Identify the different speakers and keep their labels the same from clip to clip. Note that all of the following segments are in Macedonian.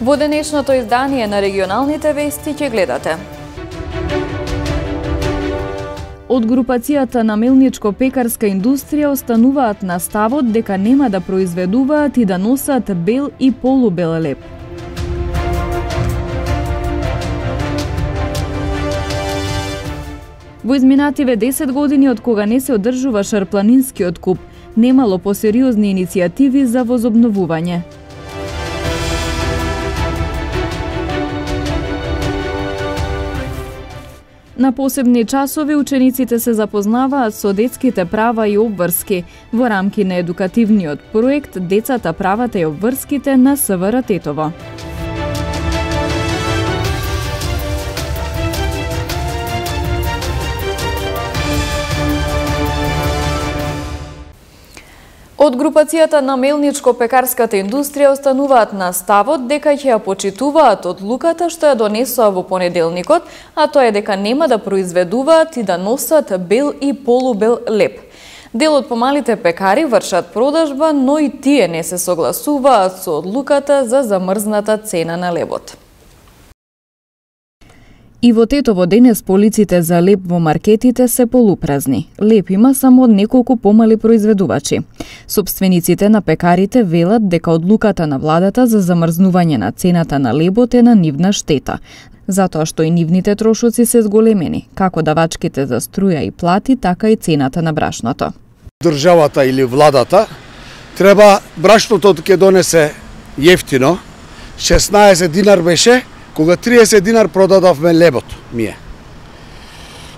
Speaker 1: Во денешното издание на регионалните вести ќе гледате. Од групацијата на мелничко-пекарска индустрија остануваат на ставот дека нема да произведуваат и да носат бел и полубел леп. Во изминативе 10 години од кога не се одржува шарпланинскиот куп, немало посериозни иницијативи за возобновување. На посебни часови учениците се запознаваат со детските права и обврски во рамки на едукативниот проект Децата, правата и обврските на СВР Тетово. Од групацијата на мелничко-пекарската индустрија остануваат на ставот дека ќе ја почитуваат одлуката што ја донесоа во понеделникот, а тоа е дека нема да произведуваат и да носат бел и полубел леп. Дел од помалите пекари вршат продажба, но и тие не се согласуваат со одлуката за замрзната цена на лебот. И во Тетово денес полиците за леп во маркетите се полупразни. Леп има само од неколку помали произведувачи. Собствениците на пекарите велат дека одлуката на владата за замрзнување на цената на лебот е на нивна штета, затоа што и нивните трошоци се зголемени, како давачките за струја и плати, така и цената на брашното.
Speaker 2: Државата или владата треба брашното ќе донесе јефтино, 16 динар беше, кога 30 динар продадавме лебот ми е.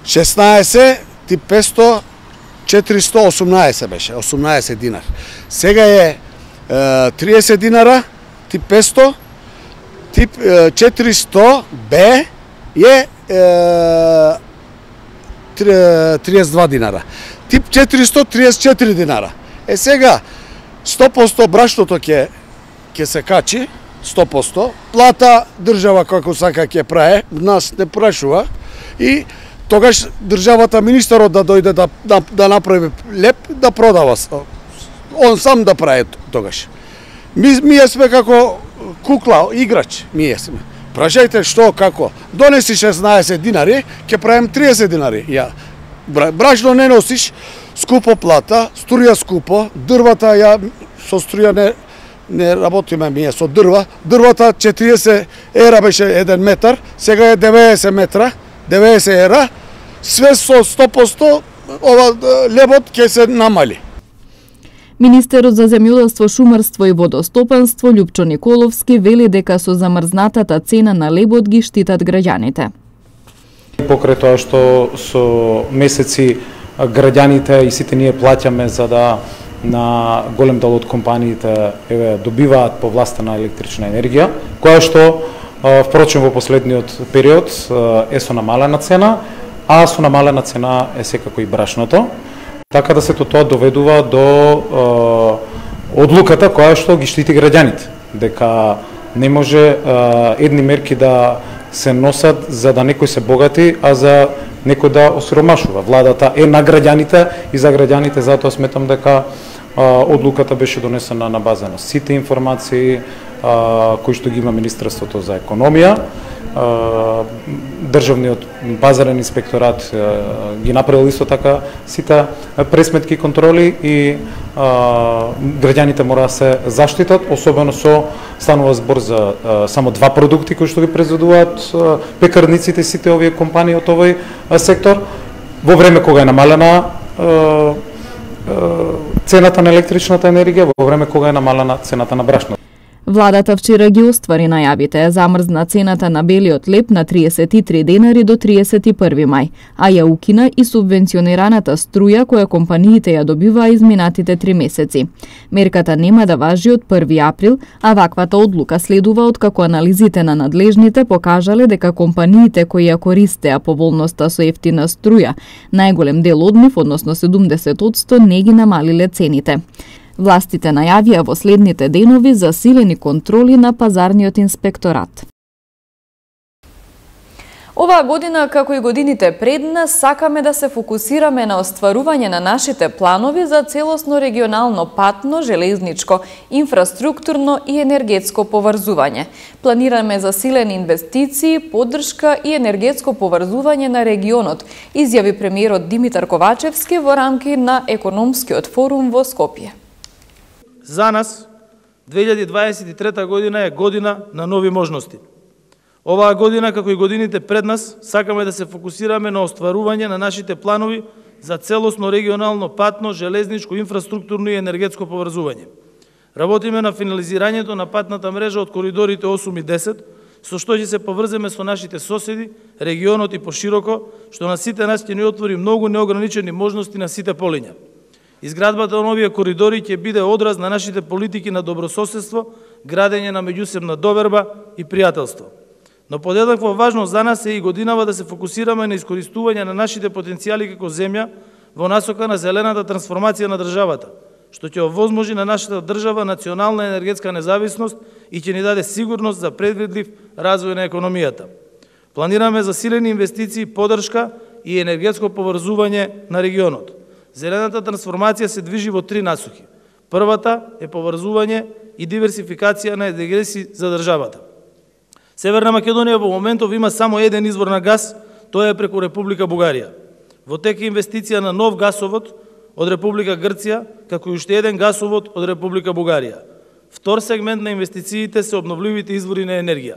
Speaker 2: 16 тип 500, 418 беше, 18 динар. Сега е 30 динара, тип 500, тип 400 Б е 32 динара. Тип 400, 34 динара. Сега 100% брашното ќе се качи, 100%, плата држава како сака ќе праe, нас не прашува и тогаш државата, министерот да дојде да направи леп, да продава. Он сам да праe тогаш. Ние сме како кукла, играч, ние сме. Прашајте што, како. Донеси 16 динари, ќе правим 30 динари. Брашно не носиш, скупо плата, струја скупо, дрвата со струја не работиме ние со дрва. Дрвата 40 ера беше 1 метар, сега е 90 метра, 90 ера. Све со 100% ова лебот ќе се намали.
Speaker 1: Министерот за земјоделство, шумарство и водостопанство Љупчо Николовски вели дека со замрзнатата цена на лебот ги штитат граѓаните.
Speaker 3: Покрај тоа што со месеци граѓаните и сите ние плаќаме за да на голем дел од компаниите добиваат повластена електрична енергија, која што впрочем во последниот период е со намалена цена, а со намалена цена е секако и брашното. Така да сето тоа доведува до одлуката која што ги штити граѓаните, дека не може едни мерки да се носат за да некој се богати, а за некој да осиромашува. Владата е на граѓаните и за граѓаните, затоа сметам дека одлуката беше донесена на база на сите информации кои што ги има Министерството за економија. Државниот базарен инспекторат ги направил исто така сите пресметки контроли и граѓаните мора да се заштитат, особено станува збор за само 2 продукти кои што ги произведуваат пекарниците, сите овие компании од овој сектор, во време кога е намалена цената на електричната енергија, во време кога е намалена цената на брашното.
Speaker 1: Владата вчера ги оствари најавите, замрзна цената на белиот леп на 33 денари до 31 мај, а ја укина и субвенционираната струја која компаниите ја добиваа изминатите 3 месеци. Мерката нема да важи од 1 април, а ваквата одлука следува откако анализите на надлежните покажале дека компаниите кои ја користеа поволноста со ефтина струја, најголем дел од нив, односно 70%, не ги намалиле цените. Властите најавија во следните денови засилени контроли на пазарниот инспекторат. Оваа година, како и годините пред нас, сакаме да се фокусираме на остварување на нашите планови за целосно регионално патно, железничко, инфраструктурно и енергетско поврзување. Планираме засилени инвестиции, поддршка и енергетско поврзување на регионот, изјави премиерот Димитар Ковачевски во рамки на економскиот форум во Скопје.
Speaker 4: За нас 2023 година е година на нови можности. Оваа година, како и годините пред нас, сакаме да се фокусираме на остварување на нашите планови за целосно регионално патно, железничко, инфраструктурно и енергетско поврзување. Работиме на финализирањето на патната мрежа од коридорите 8 и 10, со што ќе се поврземе со нашите соседи, регионот и пошироко, што на сите нас ќе ни отвори многу неограничени можности на сите полиња. Изградбата на овие коридори ќе биде одраз на нашите политики на добрососедство, градење на меѓусебна доверба и пријателство. Но подеднакво важно за нас е и годинава да се фокусираме на искористување на нашите потенцијали како земја во насока на зелената трансформација на државата, што ќе овозможи на нашата држава национална енергетска независност и ќе ни даде сигурност за предвидлив развој на економијата. Планираме засилени инвестиции, поддршка и енергетско поврзување на регионот. Зелената трансформација се движи во три насоки. Првата е поврзување и диверсификација на енергети за државата. Северна Македонија во моментов има само еден извор на газ, тоа е преку Република Бугарија. Во тек е инвестиција на нов гасовод од Република Грција, како и уште еден гасовод од Република Бугарија. Втор сегмент на инвестициите се обновливите извори на енергија.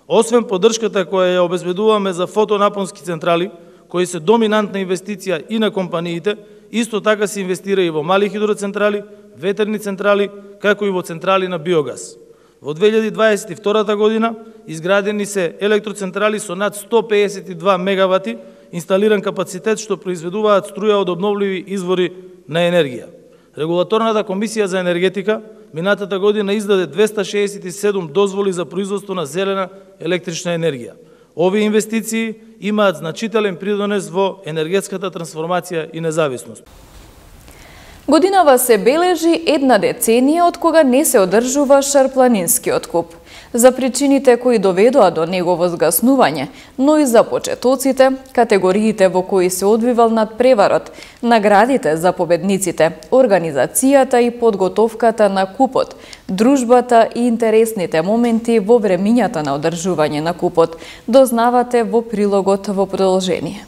Speaker 4: Освен поддршката која ја обезбедуваме за фотонапонски централи, кои се доминантна инвестиција и на компаниите, исто така се инвестира и во мали хидроцентрали, ветерни централи, како и во централи на биогаз. Во 2022 година изградени се електроцентрали со над 152 мегавати инсталиран капацитет што произведуваат струја од обновливи извори на енергија. Регулаторната комисија за енергетика минатата година издаде 267 дозволи за производство на зелена електрична енергија. Овие инвестиции имаат значителен придонес во енергетската трансформација и независност.
Speaker 1: Годинава се бележи една деценија од кога не се одржува шарпланинскиот куп. За причините кои доведоа до негово згаснување, но и за почетоците, категориите во кои се одвивал надпреварот, наградите за победниците, организацијата и подготовката на купот, дружбата и интересните моменти во времињата на одржување на купот, дознавате во прилогот во продолжение.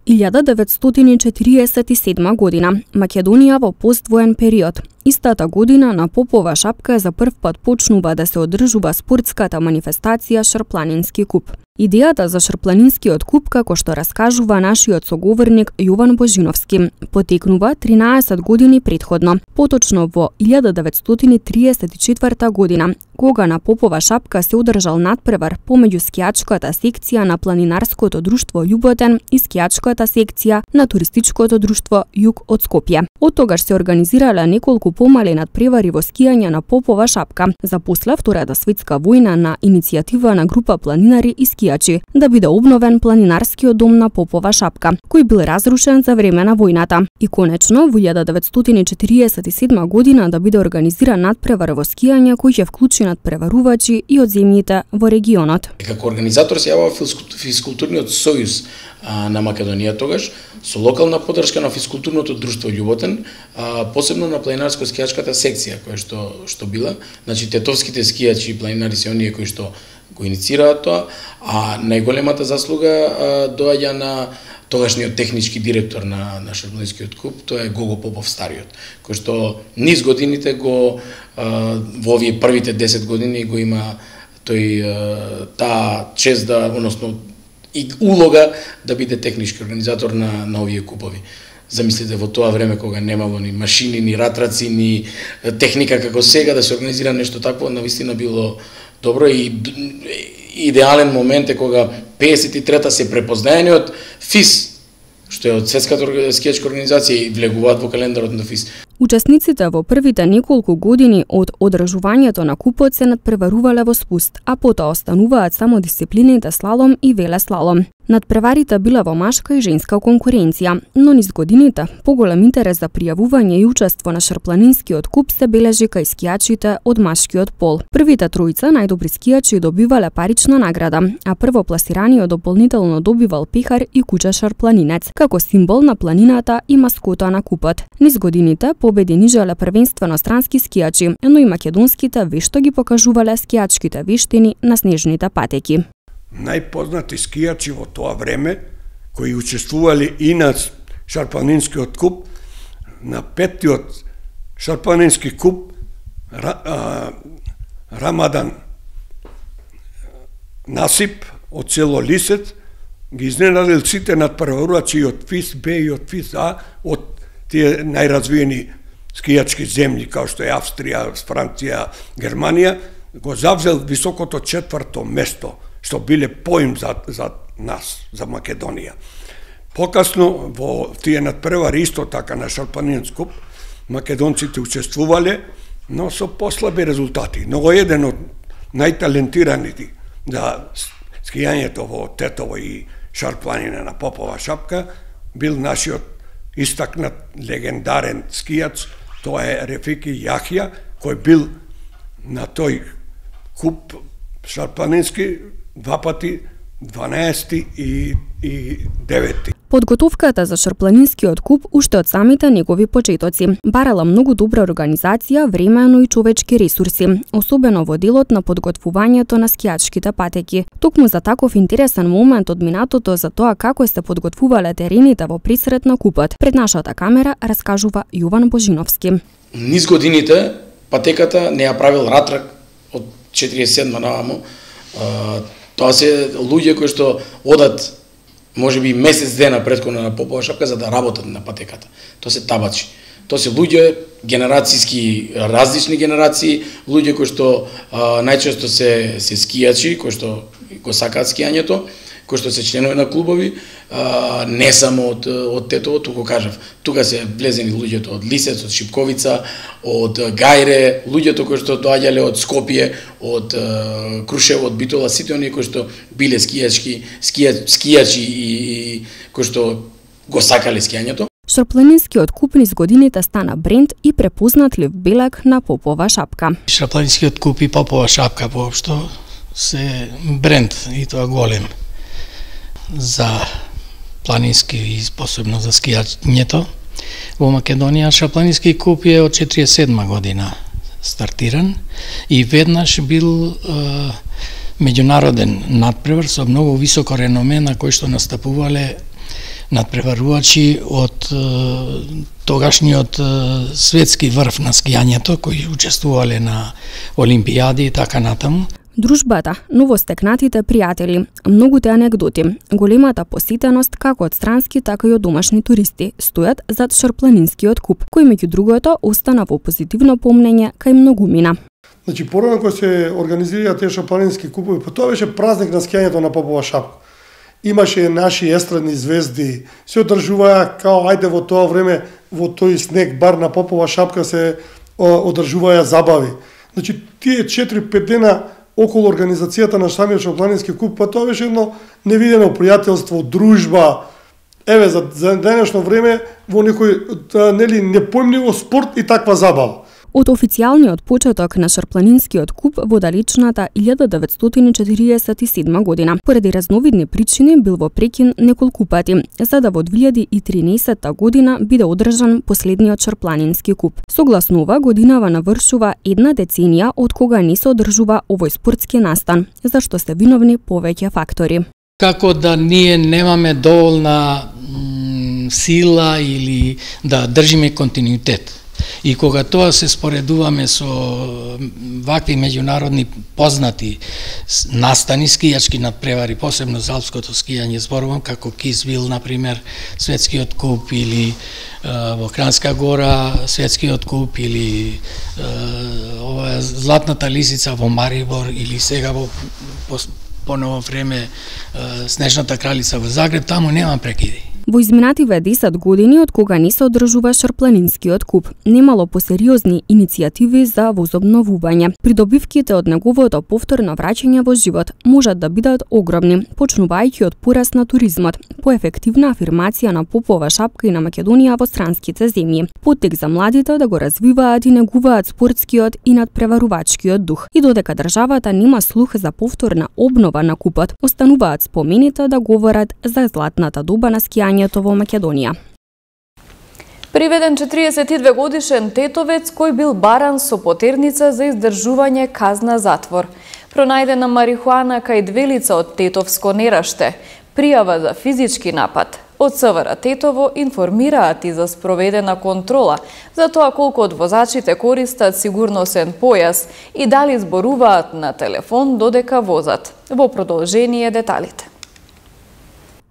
Speaker 5: 1947 година, Македонија во поствоен период. Истата година на Попова шапка за прв пат почнува да се одржува спортската манифестација Шарпланински куп. Идејата за Шарпланинскиот куп, како што раскажува нашиот соговорник Јован Божиновски, потекнува 13 години претходно, поточно во 1934 година, кога на Попова шапка се одржал надпревар помеѓу скијачката секција на Планинарското друштво Љуботен и скијачката секција на Туристичкото друштво Југ од Скопје. Од тогаш се организирале неколку помали надпревари во скијање на Попова шапка, за после Втората светска војна на иницијатива на група планинари и скијачи да биде обновен планинарскиот дом на Попова шапка, кој бил разрушен за време на војната. И конечно во 1947 година да биде организиран надпревар во скијање кој ќе вклучи надпреварувачи и од земјите во регионот.
Speaker 6: Како организатор се јавува физкултурниот сојуз на Македонија тогаш, со локална поддршка на физкултурното друштво Љуботен, посебно на планинарско-скијачката секција која што била, значи тетовските скијачи и планинари се оние кои што го иницираат тоа, а најголемата заслуга доаѓа на тогашниот технички директор на Шарпланинскиот куп, тоа е Гого Попов стариот, кој што низ годините го во овие првите 10 години го има тој таа чест да, односно и улога да биде технички организатор на овие купови. Замислите во тоа време кога немало ни машини, ни ратраци, ни техника како сега да се организира нешто такво, навистина било добро и идеален момент е кога 53-та се препознаени од ФИС, што е од Светската скијачка организација и влегуваат во календарот на ФИС.
Speaker 5: Учесниците во првите неколку години од одржувањето на купот се надпреварувале во спуст, а потоа остануваат само дисциплините слалом и велеслалом. Надпреварите била во машка и женска конкуренција, но низ годините поголем интерес за пријавување и учество на шарпланинскиот куп се бележи кај скијачите од машкиот пол. Првите тројца најдобри скијачи добивале парична награда, а првопласираниот дополнително добивал пехар и куче шарпланинец, како символ на планината и маскота на купот. Низ годините победи нижеле првенствено странски скијачи, но и македонските вешто ги покажувале скијачките вештини на снежните патеки.
Speaker 7: Најпознати скијачи во тоа време, кои учествувале и на шарпланинскиот куп, на петтиот шарпланински куп, Рамадан Насип од село Лисец, ги изненадил сите надпреварувачи од ФИС Б и од ФИС А, од тие најразвиени скијачки земји, као што е Австрија, Франција, Германија, го завзел високото 4-то место, што биле поим за нас, за Македонија. Покасно во тие надпревари исто така на шарпланински куп, македонците учествувале, но со послаби резултати. Но еден од најталентираните за скијањето во Тетово и шарпланина на Попова шапка бил нашиот истакнат легендарен скијач, тоа е Рефики Јахја, кој бил на тој куп шарпланински два пати 12 и 9.
Speaker 5: Подготовката за шарпланинскиот куп уште од самите негови почетоци барала многу добра организација, време, но и човечки ресурси, особено во делот на подготвувањето на скијачките патеки. Токму за таков интересен момент од минатото за тоа како се подготвувале терените во пресрет на купот, пред нашата камера раскажува Јован Божиновски.
Speaker 6: Низ годините патеката не ја правил Ратрак од 47 наваму. Тоа се луѓе кои што одат можеби месец дена претходно на Попова шапка за да работат на патеката. Тоа се табачи. Тоа се луѓе генерацијски, различни генерации, луѓе кои што најчесто се скијачи, кои што го сакаат скијањето, кои што се членови на клубови, не само од Тетово, туку кажав, тука се влезени луѓето од Лисец, од Шипковица, од Гајре, луѓето кои што доаѓале од Скопје, од Крушево, од Битола, сите оние кои што биле скијачи и кои што го сакале скијањето.
Speaker 5: Шарпланинскиот куп низ годините стана бренд и препознатлив белег на Попова шапка.
Speaker 8: Шарпланинскиот куп и Попова шапка воопшто се бренд и тоа голем за планински и посебно за скијањето. Во Македонија шарпланински куп е од 47 година стартиран и веднаш бил меѓународен надпревар со многу високо реноме на кој што настапувале надпреварувачи од тогашниот светски врв на скијањето кои учествувале на олимпијади и така натаму.
Speaker 5: Дружбата, новостекнатите пријатели, многуте анегдоти, големата посетеност како од странски, така и од домашни туристи стојат зад шарпланинскиот куп, кој меѓу другото остана во позитивно помнење кај многумина.
Speaker 9: Значи, порано кога се организираа тие шарпланински купови, тоа беше празник на скијањето на Попова шапка. Имаше наши естрадни звезди, се одржуваа као ајде во тоа време во тој снег бар на Попова шапка се одржуваа забави. Значи, тие 4-5 дена околу организацијата на самиот шарпланински куп, па тоа беше едно невидено пријателство, дружба. Еве, за денешно време во некој нели непојмливо спорт и таква забава.
Speaker 5: Од официјалниот почеток на шарпланинскиот куп во далечната 1947 година, поради разновидни причини бил во прекин неколку пати, за да во 2013 година биде одржан последниот шарпланински куп. Согласно ова, годинава навршува една деценија од кога не се одржува овој спортски настан, за што се виновни повеќе фактори.
Speaker 8: Како да ние немаме доволна сила или да држиме континуитет. И кога тоа се споредуваме со вакви меѓународни познати настани, скијачки надпревари, посебно за алпското скијање, зборувам како Кисвил, например, светскиот куп, или во Кранска гора светскиот куп, или ова Златната лисица во Марибор, или сега во поново време Снежната кралица во Загреб, таму нема прекиди.
Speaker 5: Во изминативе 10 години од кога не се одржува шарпланинскиот куп, немало посериозни иницијативи за возобновување. Придобивките од неговото повторно враќање во живот можат да бидат огромни, почнувајќи од пораст на туризмот, поефективна афирмација на Попова шапка и на Македонија во странските земји, поттик за младите да го развиваат и негуваат спортскиот и надпреварувачкиот дух. И додека државата нема слух за повторна обнова на купот, остануваат спомените да говорат за златната доба на скијањето во Македонија.
Speaker 1: Приведен 42 годишен тетовец кој бил баран со потерница за издржување казна затвор. Пронајдена марихуана кај 2 лица од Тетовско Нераште. Пријава за физички напад. Од СВР Тетово информираат и за спроведена контрола за тоа колку од возачите користат сигурносен појас и дали зборуваат на телефон додека возат. Во продолжение деталите.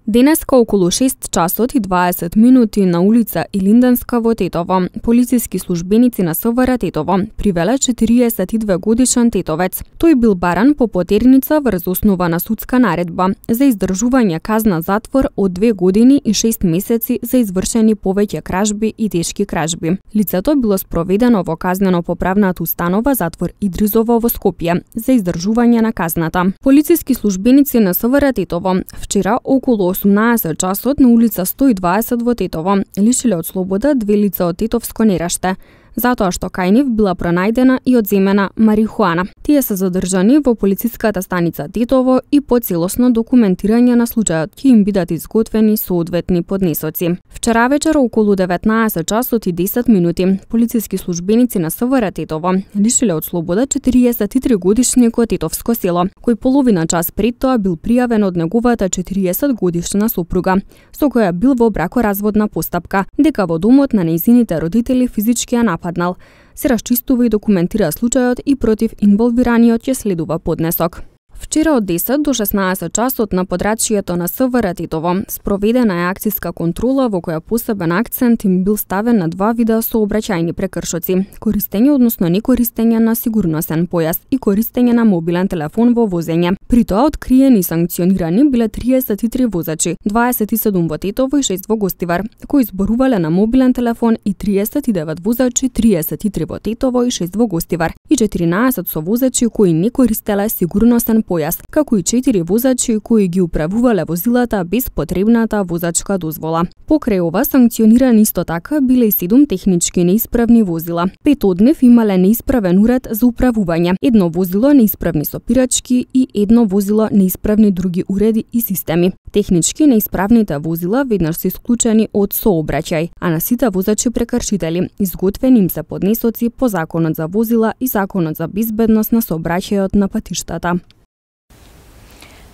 Speaker 5: Денеска околу 6 часот и 20 минути на улица Илинденска во Тетово, полициски службеници на СВР Тетово привеле 42 годишен тетовец. Тој бил баран по потерница врз основа на судска наредба за издржување казна затвор од 2 години и 6 месеци за извршени повеќе кражби и тешки кражби. Лицето било спроведено во казнено-поправната установа затвор Идризово во Скопје за издржување на казната. Полициски службеници на СВР Тетово вчера околу 18 часот на улица 120 во Тетово лишиле од слобода 2 лица од Тетовско Нераште, затоа што кај нив била пронајдена и одземена марихуана. Тие се задржани во полициската станица Тетово и по целосно документирање на случајот ќе им бидат изготвени соодветни поднесоци. Вчера вечер околу 19 часот и 10 минути полициски службеници на СВР Тетово лишиле од слобода 43 годишник од Тетовско село, кој половина час пред тоа бил пријавен од неговата 40 годишна сопруга, со која бил во бракоразводна постапка, дека во домот на нејзините родители физички ја нападнал. Се расчистува и документира случајот и против инволвираниот ќе следува поднесок. Вчера од 10 до 16 часот на подрачјето на СВР Тетово спроведена е акциска контрола во која посебен акцент им бил ставен на 2 вида сообраќајни прекршоци: користење, односно некористење на сигурносен појас и користење на мобилен телефон во возење. При тоа откриени и санкционирани биле 33 возачи, 27 во Тетово и 6 во Гостивар, кои зборувале на мобилен телефон, и 39 возачи, 33 во Тетово и 6 во Гостивар, и 14 со возачи кои не користеле сигурносен појас, како и 4 возачи кои ги управувале возилата без потребната возачка дозвола. Покрај ова санкционирани исто така биле и 7 технички неисправни возила. 5 од нив имале неисправен уред за управување, 1 возило неисправни сопирачки и 1 возило неисправни други уреди и системи. Технички неисправните возила веднаш се исклучени од сообраќај, а на сите возачи прекршители изготвени им се поднесоци по Законот за возила и Законот за безбедност на сообраќајот на патиштата.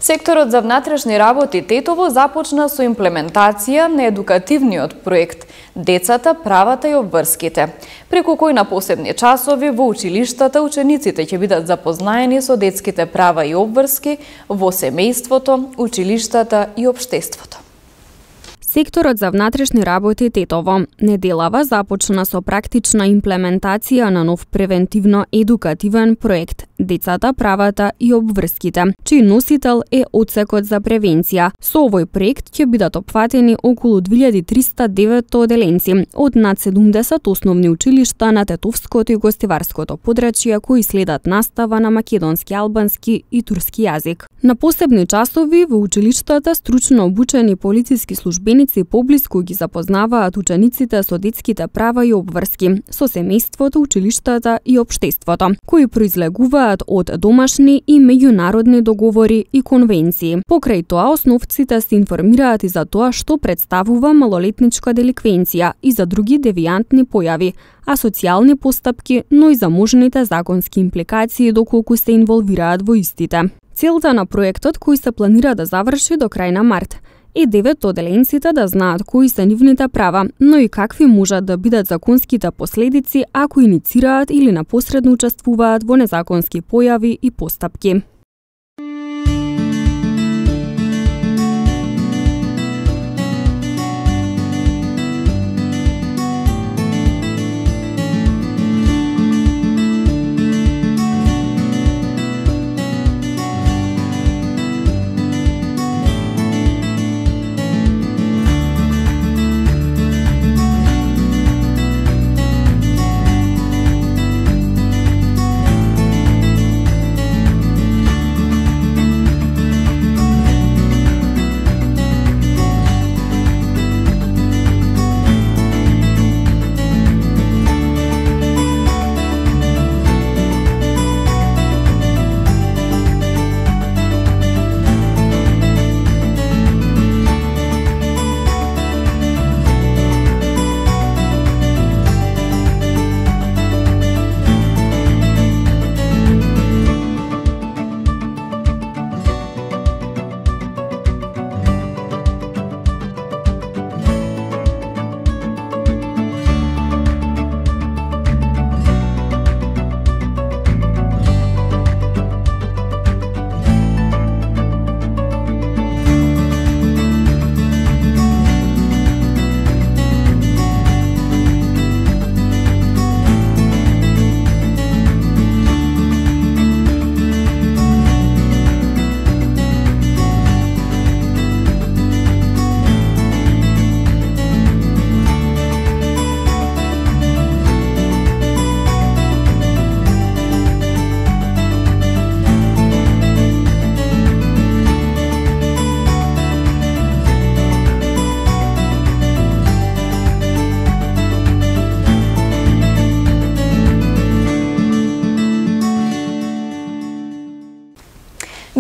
Speaker 1: Секторот за внатрешни работи Тетово започна со имплементација на едукативниот проект Децата, правата и обврските, преку кој на посебни часови во училиштата учениците ќе бидат запознаени со детските права и обврски во семејството, училиштата и општеството.
Speaker 5: Секторот за внатрешни работи Тетово неделава започна со практична имплементација на нов превентивно-едукативен проект Децата, правата и обврските, чиј носител е Одсекот за превенција. Со овој проект ќе бидат опфатени околу 2309 оделенци од над 70 основни училишта на Тетовското и Гостиварското подрачје кои следат настава на македонски, албански и турски јазик. На посебни часови во училиштата стручно обучени полициски службеници поблиску ги запознаваат учениците со детските права и обврски, со семејството, училиштата и општеството, кои произлегуваат од домашни и меѓународни договори и конвенции. Покрај тоа, основците се информираат и за тоа што представува малолетничка деликвенција и за други девијантни појави, а социјални постапки, но и за можните законски импликации доколку се инволвираат во истите. Целта на проектот, кој се планира да заврши до крај на март, е 9 оделенците да знаат кои се нивните права, но и какви можат да бидат законските последици ако иницираат или непосредно учествуваат во незаконски појави и постапки.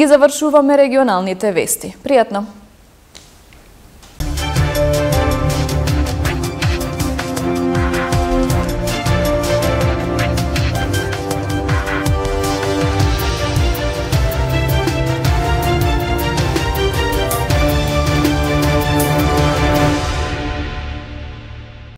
Speaker 1: Ги завршуваме регионалните вести. Пријатно!